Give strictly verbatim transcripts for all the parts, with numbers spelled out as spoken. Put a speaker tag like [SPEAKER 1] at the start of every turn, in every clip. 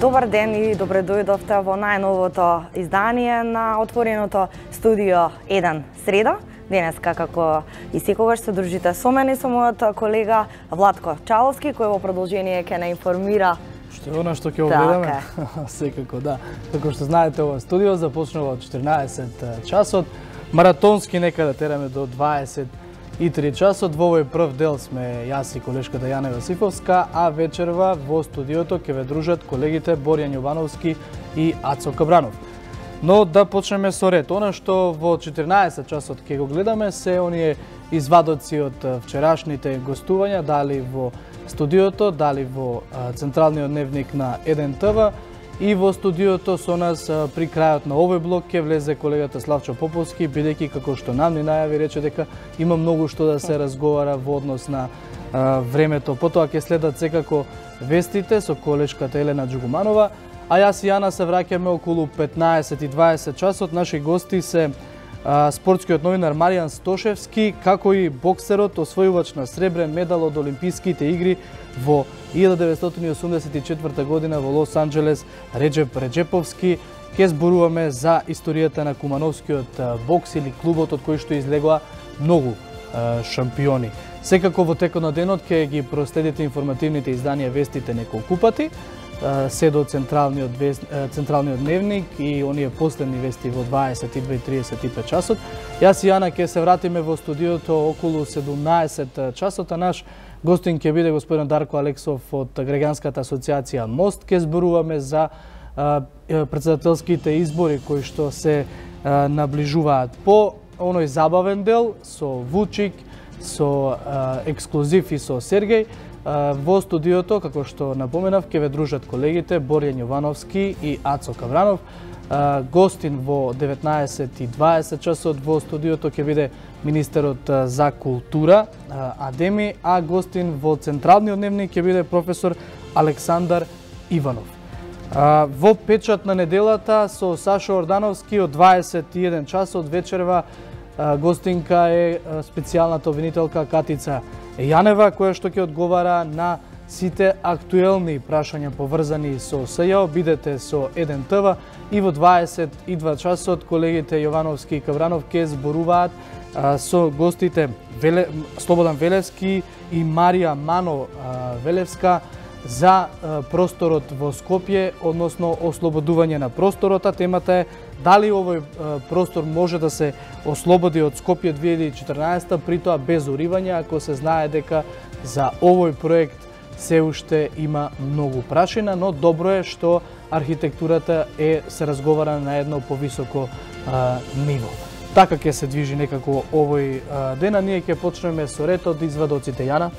[SPEAKER 1] Добар ден и добре дојдовте во најновото издание на отвореното студио еден среда. Денеска, како и секогаш, се дружите со мене и со мојот колега Владко Чаловски, кој во продолжение ќе не информира.
[SPEAKER 2] Што е она што ќе огледаме? Секако, да. Како што знаете, ова студио започнува од четирнаесет часот. Маратонски некаде тераме до дваесет и три часот. Во овој прв дел сме јас и колешката Јана Јосифовска, а вечерва во студиото ќе ве дружат колегите Борјан Јовановски и Ацо Кабранов. Но да почнеме со ред. Она што во четирнаесет часот ќе го гледаме се оние извадоци од вчерашните гостувања, дали во студиото, дали во централниот дневник на еден те ве. И во студиото со нас при крајот на овој блок ќе влезе колегата Славчо Поповски, бидејќи како што нам ни најави рече дека има многу што да се разговара во однос на а, времето. Потоа ќе следат секако вестите со колешката Елена Джугуманова, а јас и Јана се враќаме околу петнаесет и дваесет часот. Наши гости се а, спортскиот новинар Маријан Стошевски, како и боксерот освојувач на сребрен медал од Олимписките игри во илјада деветстотини и осумдесет и четврта година во Лос Анџелес Реџеп Реџеповски. Ке зборуваме за историјата на кумановскиот бокс или клубот од кој што излегоа многу е, шампиони. Секако во текот на денот ќе ги проследите информативните изданија вестите неколку пати, е, се до централниот, вест, е, централниот дневник и оние последни вести во дваесет и две и тридесет и пет часот. Јас и Јана ќе се вратиме во студиото околу седумнаесет часот, а наш гостин ќе биде господин Дарко Алексов од Граѓанската асоциација Мост. Ќе зборуваме за а, претседателските избори кои што се а, наближуваат. По оној забавен дел со Вучик, со а, ексклузив и со Сергеј, а, во студиото, како што напоменав, ќе ве дружат колегите Борјан Јовановски и Ацо Кабранов. А, гостин во деветнаесет и дваесет часот во студиото ќе биде министерот за култура Адеми, а гостин во централниот дневник ќе биде професор Александар Иванов. Во печат на неделата со Сашо Ордановски од дваесет и еден часот вечерва гостинка е специјалната обвинителка Катица Јанева, која што ќе одговара на сите актуелни прашања поврзани со СЈО. Бидете со еден те ве и во дваесет и два часот колегите Јовановски и Кабранов ќе зборуваат со гостите Веле, Слободан Велевски и Марија Мано Велевска за просторот во Скопје, односно ослободување на просторот. А темата е дали овој простор може да се ослободи од Скопје две илјади и четрнаесетта, при тоа без уривање, ако се знае дека за овој проект се уште има многу прашина, но добро е што архитектурата е се разговара на едно повисоко а, ниво. Така ќе се движи некако овој а, ден, а ние ќе почнеме со ред од извадоците. Јана?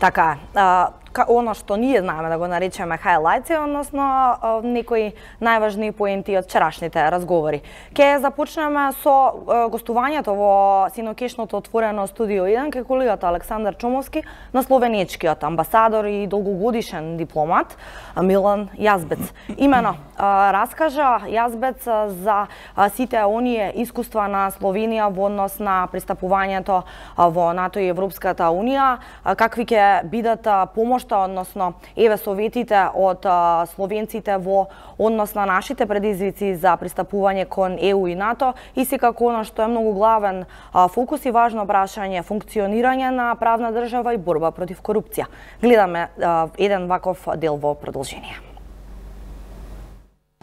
[SPEAKER 1] Така, а, оно што ние знаеме да го наречеме хайлајци, односно а, некои најважни поенти од вчерашните разговори. Ке започнеме со а, гостувањето во синокешното отворено студио еден кај колегата Александар Чомовски на словенечкиот амбасадор и долгогодишен дипломат Милан Јазбец. Имено а, раскажа Јазбец за а, сите оние искуства на Словенија во однос на пристапувањето а, во НАТО и Европската унија, а, какви ќе бидат помошта, односно еве советите од а, словенците во однос на нашите предизвици за пристапување кон Е У и НАТО и секако она што е многу главен а, фокус и важно прашање функционирање на правна држава и борба против корупција. Гледаме а, еден ваков дел во продолжение.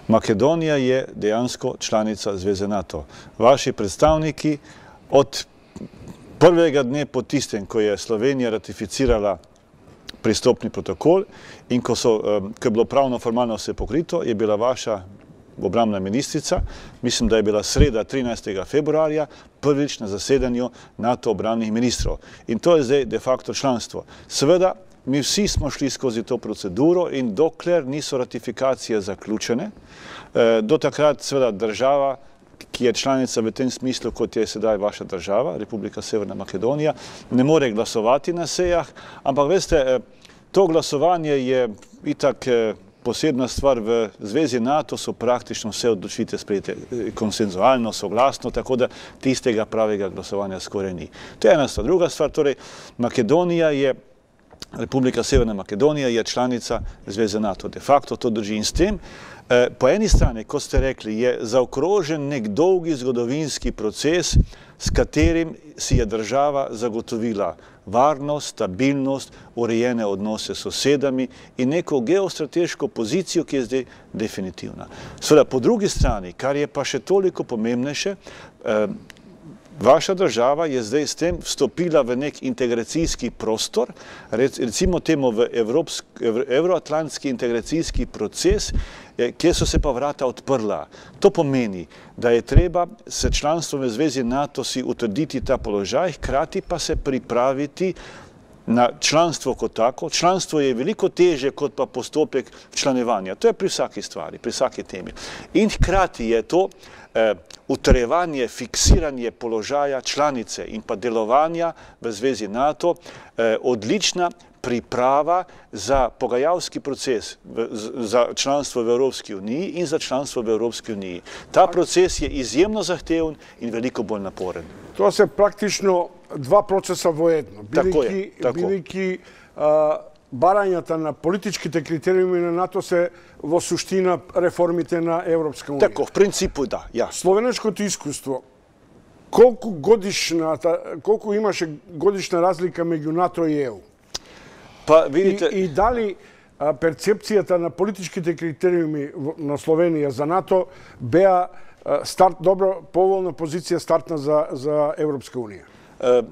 [SPEAKER 3] Македонија е дејанско чланица Звезе НАТО. Ваши представники од првега дне потистен кој е Словенија ратифицирала пристопни протокол и кој било правно формално се покрито, е била ваша обрамна министрица, мислам да е била среда тринаесеттога февруарија, првич на заседање НАТО обрамних министров. И тоа е де факто членство. Сведа, ми вси смо шли скози то процедуро и доклер нису ратификација заклучене, до такрат сведа држава ki je članica v tem smislu, kot je sedaj vaša država, Republika Severna Makedonija, ne more glasovati na sejah, ampak veste, to glasovanje je itak posebna stvar v Zvezi NATO, so praktično vse odločitve sprejete konsenzualno, soglasno, tako da tistega pravega glasovanja skoraj ni. To je ena stvar. Druga stvar, torej, Makedonija je Република Северна Македонија je članica Zveze NATO. De facto to drži in s tem. Po eni strani, kot ste rekli, je zaokrožen nek dolgi zgodovinski proces, s katerim si je država zagotovila varnost, stabilnost, urejene odnose s sosedami in neko geostrateško pozicijo, ki je zdaj definitivna. Seveda, po drugi strani, kar je pa še toliko pomembnejše, vaša država je zdaj s tem vstopila v nek integracijski prostor, recimo temu v evroatlantski integracijski proces, kjer so se pa vrata odprla. To pomeni, da je treba s članstvom v Zvezi NATO si utrditi ta položaj, hkrati pa se pripraviti na članstvo kot tako. Članstvo je veliko teže kot pa postopek članevanja. To je pri vsaki stvari, pri vsaki temi. In hkrati je to utrjevanje, fiksiranje položaja članice in pa delovanja v Zvezi NATO odlična priprava za pogajalski proces za članstvo v Evropski uniji in za članstvo v Evropski uniji. Ta proces je izjemno zahteven in veliko bolj naporen.
[SPEAKER 4] To se praktično dva procesa vojedno. Бидејќи барањата на политичките критериуми на НАТО се во суштина реформите на Европска унија.
[SPEAKER 3] Тако, в принципу да, ја.
[SPEAKER 4] Словенешкото искуство, колку годишната, колку имаше годишна разлика меѓу НАТО и ЕУ?
[SPEAKER 3] Па, видите...
[SPEAKER 4] И, и дали а, перцепцијата на политичките критериуми на Словенија за НАТО беа а, старт, добро, поволна позиција стартна за, за Европска унија?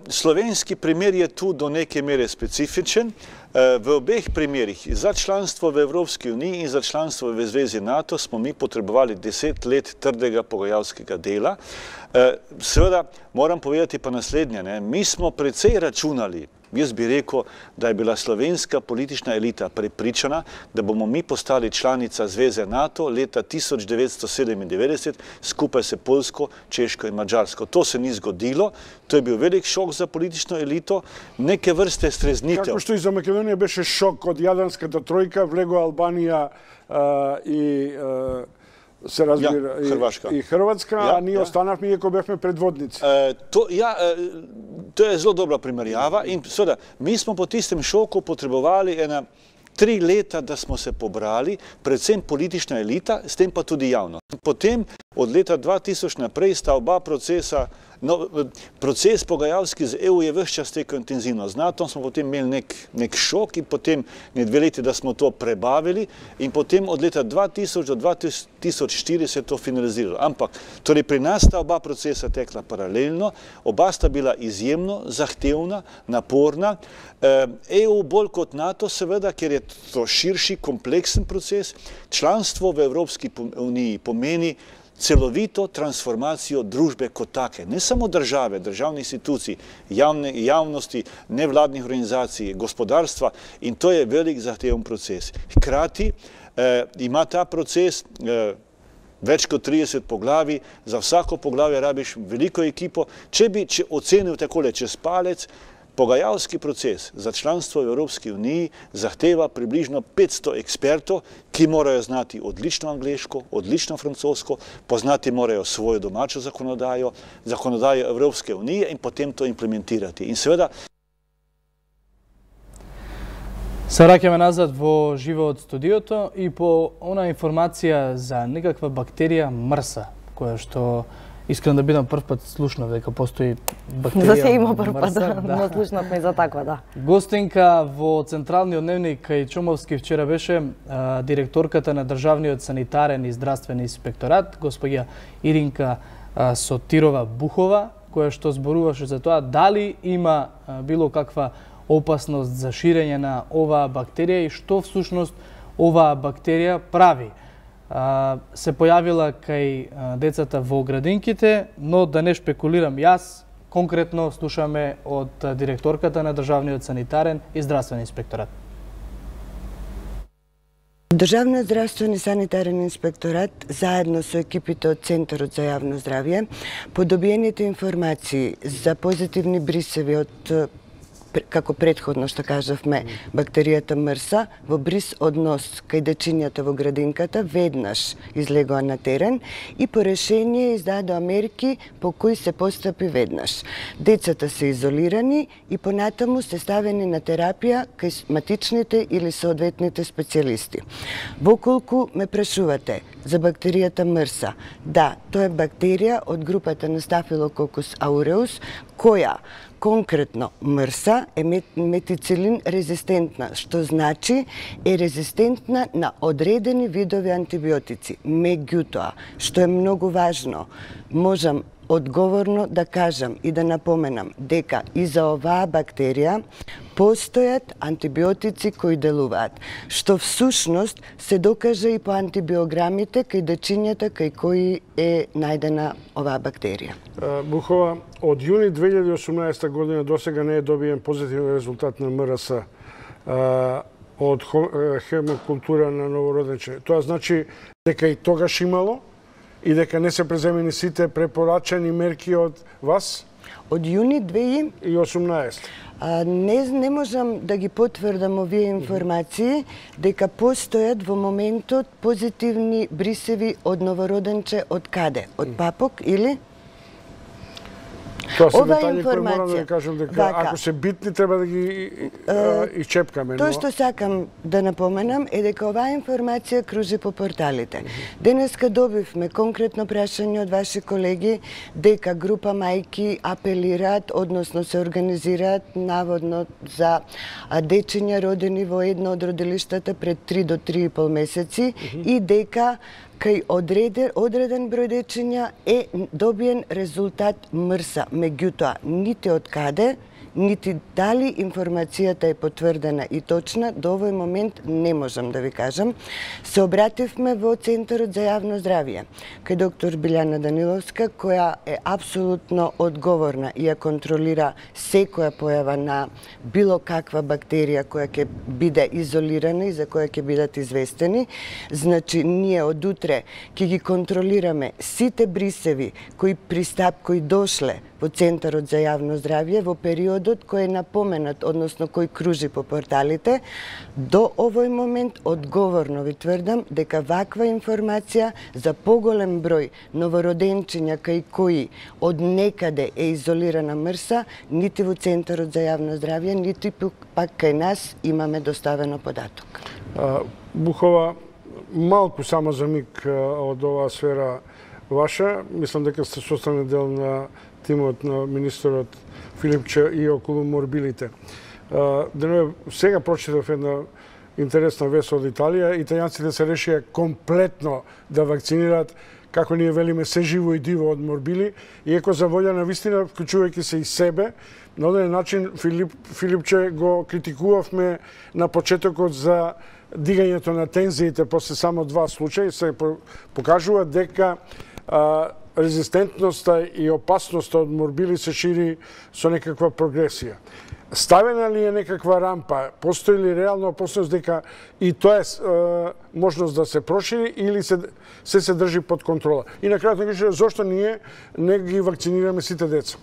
[SPEAKER 3] Slovenski primer je tu do neke mere specifičen. V obeh primerih, za članstvo v Evropski uniji in za članstvo v Zvezi NATO, smo mi potrebovali deset let trdega pogajalskega dela. Seveda, moram povedati pa naslednje, ne? Mi smo precej računali, jaz bi rekel, da je bila slovenska politična elita prepričana, da bomo mi postali članica Zveze NATO leta tisoč devetsto sedemindevetdeset skupaj s Poljsko, Češko in Mađarsko. To se ni zgodilo, to je bil velik šok za politično elito, neke vrste streznitev.
[SPEAKER 4] Како што и за Македонија беше шок од Јадранската тројка, влего Албанија а, и а, се разбира
[SPEAKER 3] ja, Hrvaška.
[SPEAKER 4] И, и Hrvatska,
[SPEAKER 3] ja,
[SPEAKER 4] a ние
[SPEAKER 3] ja.
[SPEAKER 4] останавме иако бевме предводници.
[SPEAKER 3] E, to, ja, e, to je zelo dobra primerjava in seveda, mi smo po tistem šoku potrebovali ena tri leta, da smo se pobrali, predvsem politična elita, s tem pa tudi javnost. Potem od leta dva tisoč naprej sta oba procesa, no, proces pogajalski z E U je ves čas tekel intenzivno. Z NATO smo potem imeli nek, nek šok in potem ne dve leti, da smo to prebavili in potem od leta dva tisoč do dva tisoč štiri se je to finaliziralo. Ampak, torej pri nas sta oba procesa tekla paralelno, oba sta bila izjemno zahtevna, naporna. E U bolj kot NATO seveda, ker je to širši, kompleksen proces. Članstvo v Evropski uniji pomeni celovito transformacijo družbe kot take. Ne samo države, državnih institucij, javne, javnosti, nevladnih organizacij, gospodarstva in to je velik zahteven proces. Hkrati eh, ima ta proces eh, več kot trideset poglavij, za vsako poglavje rabiš veliko ekipo. Če bi če ocenil takole čez palec, pogajalski proces za članstvo v Evropski uniji zahteva približno petsto ekspertov, ki morajo znati odlično angleško, odlično francosko, poznati morajo svojo domačo zakonodajo, zakonodajo Evropske unije in potem to implementirati. In seveda...
[SPEAKER 2] Се враќаме назад во живо од студиото и по она информација за некаква бактерија мрса, која што искрено да бидам прв пат слушнав дека постои бактерија.
[SPEAKER 1] За се има прв пат,
[SPEAKER 2] да,
[SPEAKER 1] но слушнавме за таква, да.
[SPEAKER 2] Гостинка во Централниот дневник кај Чомовски вчера беше а, директорката на Државниот санитарен и здравствен инспекторат, господја Иринка а, Сотирова Бухова, која што зборуваше за тоа дали има а, било каква опасност за ширење на оваа бактерија и што всушност оваа бактерија прави. Се појавила кај децата во градинките, но да не шпекулирам јас, конкретно слушаме од директорката на Државниот санитарен и здравствен инспекторат.
[SPEAKER 5] Државниот здравствен и санитарен инспекторат, заедно со екипите од Центарот за јавно здравје, по добиените информации за позитивни брисеви од како предходно што кажавме, бактеријата мрса во бриз однос кај дечињата во градинката веднаш излегоа на терен и по решение издадоа мерки по кои се постапи веднаш. Децата се изолирани и понатаму се ставени на терапија кај матичните или соодветните специјалисти. Воколку ме прашувате за бактеријата мрса, да, тоа е бактерија од групата на Staphylococcus aureus, која конкретно мрса е метицилин резистентна, што значи е резистентна на одредени видови антибиотици. Меѓутоа, што е многу важно, можам одговорно да кажам и да напоменам дека и за оваа бактерија постојат антибиотици кои делуваат, што всушност се докажа и по антибиограмите кај дечињата кај кои е најдена оваа бактерија.
[SPEAKER 4] Бухова, од јуни две илјади и осумнаесета година до сега не е добиен позитивен резултат на МРС од хемокултура на новороденче. Тоа значи дека и тогаш имало и дека не се преземени сите препорачани мерки од вас?
[SPEAKER 5] Од јуни две илјади
[SPEAKER 4] и осумнаесета.
[SPEAKER 5] А, не, не можам да ги потврдам овие информации, дека постојат во моментот позитивни брисеви од новороденче од каде? Од папок или?
[SPEAKER 4] Тоа се детали кои морам да ви кажам дека вака, ако се битни треба да ги исчепкаме.
[SPEAKER 5] Тоа што сакам да напоменам е дека оваа информација кружи по порталите. Денеска добивме конкретно прашање од ваши колеги дека група мајки апелираат, односно се организираат наводно за дечиња родени во едно од родилиштата пред три до три и пол месеци и дека кај одреден, одреден број дечиња е добиен резултат мрса. Меѓутоа, нити од каде, нити дали информацијата е потврдена и точна, до овој момент не можам да ви кажам. Се обративме во Центарот за јавно здравје, кај доктор Билјана Даниловска, која е апсолутно одговорна и ја контролира секоја појава на било каква бактерија која ќе биде изолирана и за која ќе бидат известени. Значи, ние од утре ќе ги контролираме сите брисеви кои пристап, кои дошле во Центарот за јавно здравје во периодот кој е напоменат, односно кој кружи по порталите. До овој момент одговорно ви тврдам дека ваква информација за поголем број новороденчиња кај кои од некаде е изолирана мрса, нити во Центарот за јавно здравје, нити пак кај нас имаме доставено податок.
[SPEAKER 4] Бухова, малку само за миг од оваа сфера ваша, мислам дека сте составен дел на тимот на министерот Филипче и околу морбилите. Денове, сега прочитав една интересна вест од Италија. Италијанците се решија комплетно да вакцинираат, како ние велиме, се живо и диво од морбили, иако за волја на вистина, вклучувајќи се и себе, на оден начин Филип, Филипче го критикувавме на почетокот за дигањето на тензиите после само два случаи. Се покажува дека а, резистентноста и опасноста од морбили се шири со некаква прогресија. Ставена ли е некаква рампа? Постои ли реална опасност дека и тоа е, е можност да се прошири или се се, се држи под контрола? И на крајот кажа, зошто ние не ги вакцинираме сите деца?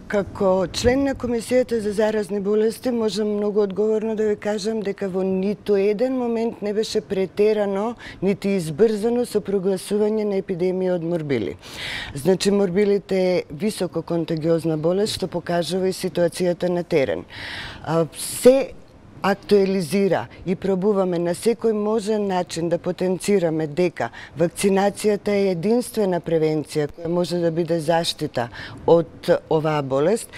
[SPEAKER 5] Како член на Комисијата за заразни болести можам многу одговорно да ви кажам дека во ниту еден момент не беше претерано нити избрзано со прогласување на епидемија од морбили. Значи, морбилите е високо контагиозна болест, што покажува и ситуацијата на терен. Се актуализира и пробуваме на секој можен начин да потенцираме дека вакцинацијата е единствена превенција која може да биде заштита од оваа болест.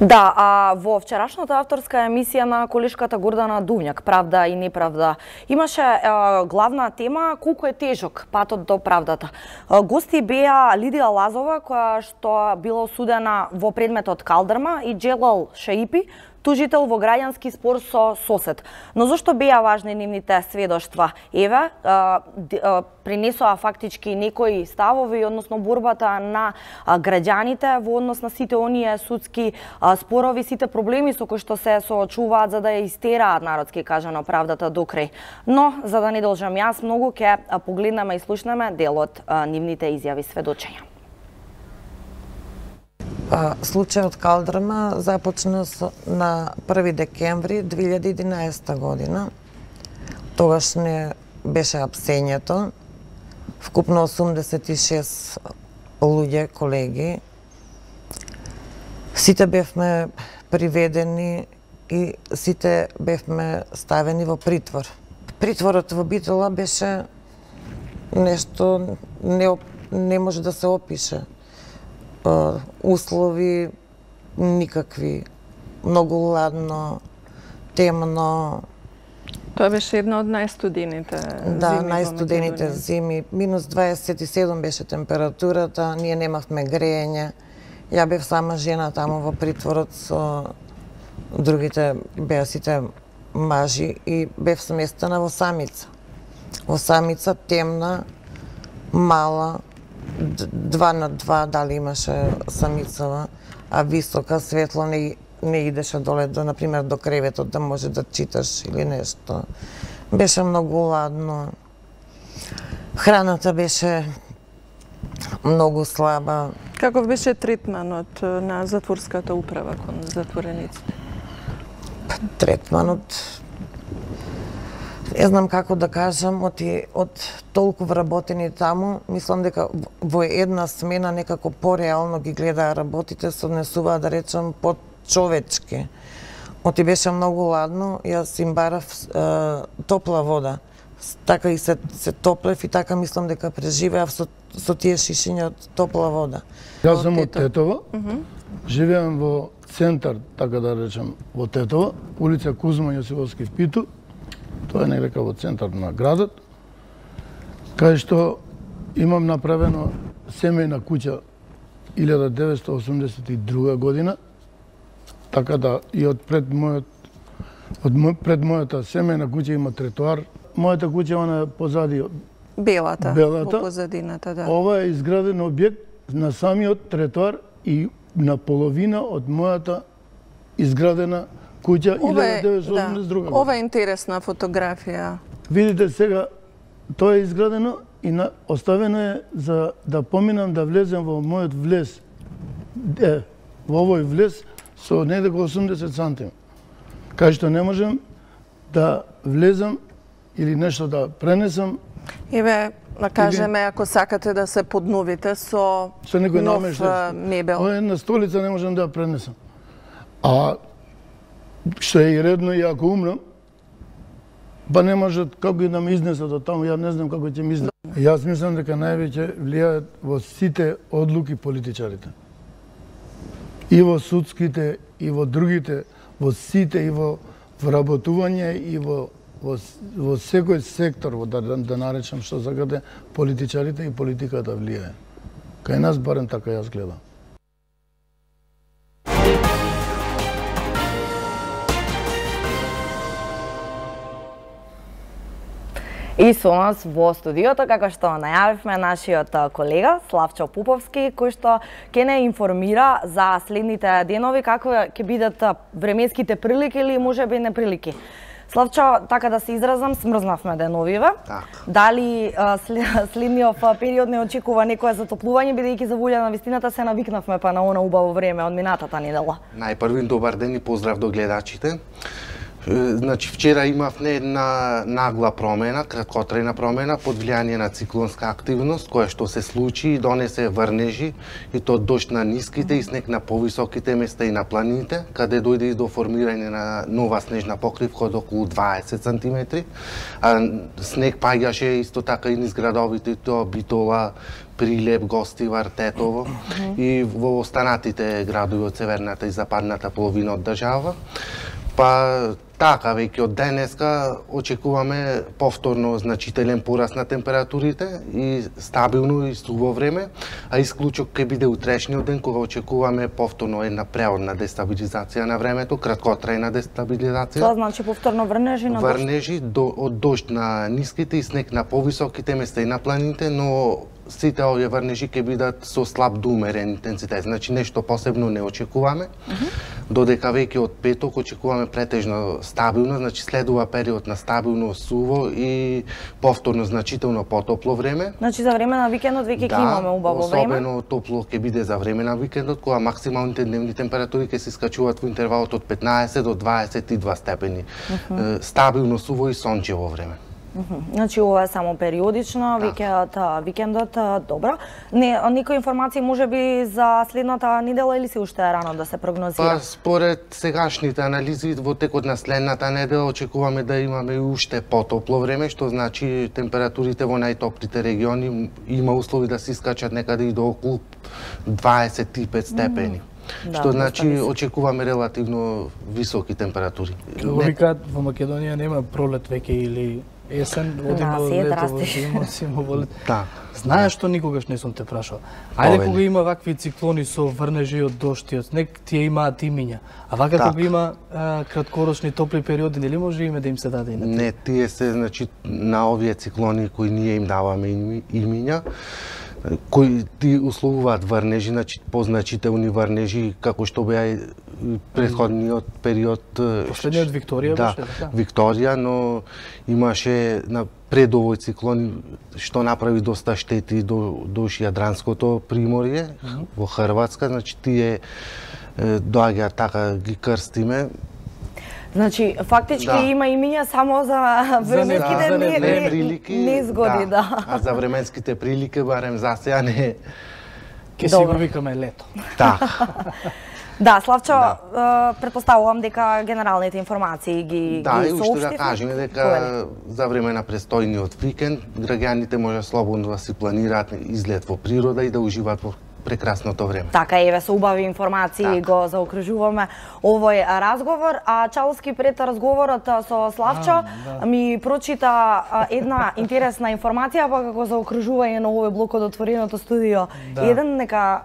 [SPEAKER 1] Да, а во вчерашната авторска емисија на колешката Гордана Дувњак, Правда и неправда, имаше а, главна тема колку е тежок патот до правдата. А, гости беа Лидија Лазова, која што била осудена во предметот Калдрма, и Джелал Шаипи, тужител во граѓански спор со сосед. Но зошто беа важни нивните сведоштва? Еве, принесоа фактички некои ставови, односно борбата на граѓаните во однос на сите оние судски спорови, сите проблеми со кои што се соочуваат за да ја истераат, народски кажано, правдата до крај. Но, за да не должам јас многу, ќе погледнеме и слушнеме дел од нивните изјави сведочења.
[SPEAKER 6] Случајот Калдрма започна на први декември две илјади и единаесета година. Тогаш не беше апсењето. Вкупно осумдесет и шест луѓе, колеги. Сите бевме приведени и сите бевме ставени во притвор. Притворот во Битола беше нешто не, не може да се опише. Услови никакви, многу ладно, темно.
[SPEAKER 7] Тоа беше една од најстудените зими.
[SPEAKER 6] Да, најстудените зими. Минус дваесет и седум беше температурата, ние немавме грејење. Ја бев сама жена таму во притворот со другите беа сите мажи и бев сместена во самица. Во самица темна, мала, два на два дали имаше самицава, а висока, светло не, не идеше доле, до, например, до креветот да може да читаш или нешто. Беше многу ладно. Храната беше многу слаба.
[SPEAKER 7] Каков беше третманот на затворската управа кон затворениците?
[SPEAKER 6] Третманот, не знам како да кажам, од, од толку вработени таму, мислам дека во една смена некако пореално ги гледаа работите, се однесуваа, да речем, подчовечки. Оти беше многу ладно, јас им барав е, топла вода. Така и се, се топлев и така мислам дека преживеав со, со тие шишиња од топла вода.
[SPEAKER 2] Јас сум од Тетово, uh -huh. живеам во центар, така да речем, во Тетово, улица Кузма Јосифовски в Питу. Тоа е некако во центар на градот, кај што имам направено семејна куќа илјада деветстотини осумдесет и друга година, така да и од пред мојот од мо, пред мојата семејна куќа има тротоар. Мојата куќа она е позади
[SPEAKER 7] белата,
[SPEAKER 2] белата.
[SPEAKER 7] во позадината, да.
[SPEAKER 2] Ова е изграден објект на самиот тротоар и на половина од мојата изградена куќа илјада деветстотини осумдесет и друга година.
[SPEAKER 7] Ова е интересна фотографија.
[SPEAKER 2] Видите сега, тоа е изградено и на, оставено е за да поминам да влезем во мојот влез. Е, во овој влез со недека осумдесет сантими. Кај што не можем да влезам или нешто да пренесам.
[SPEAKER 7] Еве, да кажеме, или... ако сакате да се подновите со,
[SPEAKER 2] со некој
[SPEAKER 7] нов
[SPEAKER 2] намештај,
[SPEAKER 7] мебел.
[SPEAKER 2] Ова една столица не можем да ја пренесам. А што е и редно, и ако умрам, па не можат како и да ме изнесат од таму, ја не знам како ќе ми изнесат. Јас мислам дека највеќе влијаат во сите одлуки политичарите. И во судските, и во другите, во сите, и во вработување, и во, во, во секој сектор, во, да, да наречам што сакате, политичарите и политиката влијае. Кај нас барем така јас гледам.
[SPEAKER 1] И со нас во студиото, како што најавивме, нашиот колега Славчо Пуповски, кој што ќе не информира за следните денови како ќе бидат временските прилики или можеби неприлики. Славчо, така да се изразам, смрзнавме деновиве.
[SPEAKER 8] Так.
[SPEAKER 1] Дали следниот период не очекува некое затоплување, бидејќи за волја на вистината се навикнавме па на она убаво време од минатата недела?
[SPEAKER 8] Најпрви добар ден и поздрав до гледачите. Значи, вчера имавме една нагла промена, краткотрајна промена, под влијание на циклонска активност, која што се случи и донесе врнежи, и то дожд на ниските и снег на повисоките места и на планините, каде дојде и до формирање на нова снежна покривка од околу дваесет сантиметри. А снег паѓаше исто така и низ градовите, тоа Битола, Прилеп, Гостивар, Тетово и во останатите градови од северната и западната половина од држава. Па така, веќе од денеска очекуваме повторно значителен пораст на температурите и стабилно и суво време, а исклучок ќе биде утрешниот ден кога очекуваме повторно една преодна дестабилизација на времето, краткотрајна дестабилизација.
[SPEAKER 1] Тоа значи повторно врнежи на
[SPEAKER 8] врнежи до, од дожд на ниските и снег на повисоките места и на планините, но сите овие врнежи ќе бидат со слаб до умерен интензитет. Значи нешто посебно не очекуваме. Mm -hmm. Додека веќе од петок очекуваме претежно стабилно, значи следува период на стабилно суво и повторно значително потопло време.
[SPEAKER 1] Значи за време на викендот веќе
[SPEAKER 8] да,
[SPEAKER 1] ќе имаме убаво време.
[SPEAKER 8] Особено топло ќе биде за време на викендот, кога максималните дневни температури ќе се скачуваат во интервалот од петнаесет до дваесет и два степени. Mm -hmm. Стабилно суво и сончево време.
[SPEAKER 1] Mm -hmm. Значи ова е само периодично, да. Викендот, викендот добро. Не, некои информации може би за следната недела или се уште е рано да се прогнозира?
[SPEAKER 8] Па според сегашните анализи во текот на следната недела очекуваме да имаме уште потопло време, што значи температурите во најтоплите региони има услови да се искачат некаде и до околу дваесет и пет степени. Mm. Да, што значи очекуваме релативно високи температури.
[SPEAKER 2] Како викаат во Македонија нема пролет веќе или есен, одиме во лето, во зима, зима во лето.
[SPEAKER 8] Да.
[SPEAKER 2] Знаеш што никогаш не сум те прашал? Ајде кога има вакви циклони со врнежи од дожд и од снег, тие имаат имиња. А вака так. Кога има а, краткорочни топли периоди, нели може име да им се даде и на тие?
[SPEAKER 8] Не, тие се значи на овие циклони кои ние им даваме имиња, кои ти условуваат врнежи, значи позначителни врнежи, како што беа претходниот период.
[SPEAKER 2] Последниот Викторија
[SPEAKER 8] да,
[SPEAKER 2] беше, така?
[SPEAKER 8] Викторија, но имаше на пред овој циклон што направи доста штети до душ Јадранското приморје mm -hmm. во Хрватска, значи тие доаѓаат така ги крстиме.
[SPEAKER 1] Значи, фактички да. Има имиња само за временските
[SPEAKER 8] за
[SPEAKER 1] не, не,
[SPEAKER 8] прилики,
[SPEAKER 1] незгоди, да.
[SPEAKER 8] да. А за временските прилики, барем за сега не...
[SPEAKER 2] Ке си го викаме лето.
[SPEAKER 8] Да.
[SPEAKER 1] Да, Славчо, да. Претпоставувам дека генералните информации ги
[SPEAKER 8] да,
[SPEAKER 1] ги
[SPEAKER 8] и уште да кажеме дека за време на престојниот викенд граѓаните може слободно да си планираат излет во природа и да уживаат во прекрасното време.
[SPEAKER 1] Така, еве со убави информации так. Го заокружуваме овој разговор, а Чалски пред разговорот со Славчо а, да. Ми прочита една интересна информација, па како заокружување на овој блок од отвореното студио. Да. Еден нека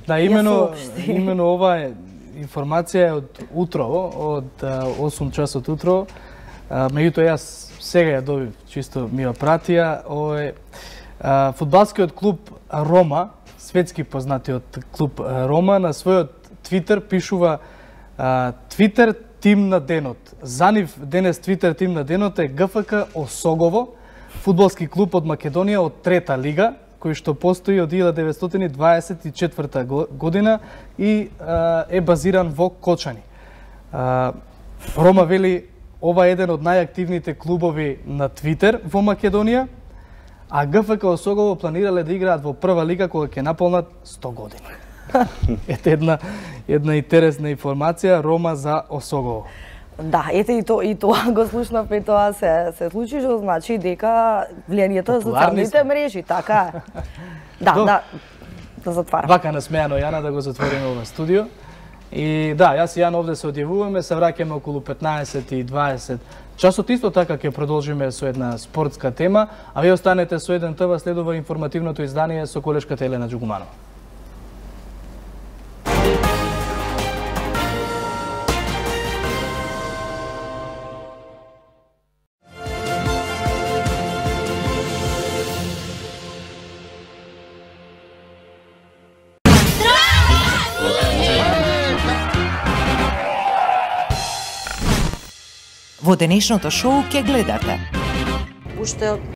[SPEAKER 2] да, имено имено ова информација од утрово, од осум часот утрово. Меѓутоа јас сега ја добив, чисто ми ја пратија, овој фудбалскиот клуб Рома, светски познатиот клуб Рома, на својот Твитер пишува Твитер тим на денот. За нив денес Твитер тим на денот е ГФК Осогово, фудбалски клуб од Македонија од трета лига, кој што постои од илјада деветстотини дваесет и четврта година и е базиран во Кочани. Рома вели ова е еден од најактивните клубови на Твитер во Македонија, а ГФК Осогово планирале да играат во прва лига кога ќе наполнат сто години. Ете една една интересна информација, Рома за Осогово.
[SPEAKER 1] Да, ете и то и тоа го слушнав, и тоа се се случи, што значи дека влијанието на социјалните мрежи, така е. Да, До, да, да затварам.
[SPEAKER 2] Вака насмеано Јана да го затвориме ова студио. И да, јас и Јан овде се одјавуваме, се враќаме околу петнаесет и дваесет часот. Исто така ќе продолжиме со една спортска тема, а вие останете со еден ТВ, следува информативното издание со колешката Елена Џугуманова.
[SPEAKER 9] Во денешното шоу ќе гледате.
[SPEAKER 6] Уште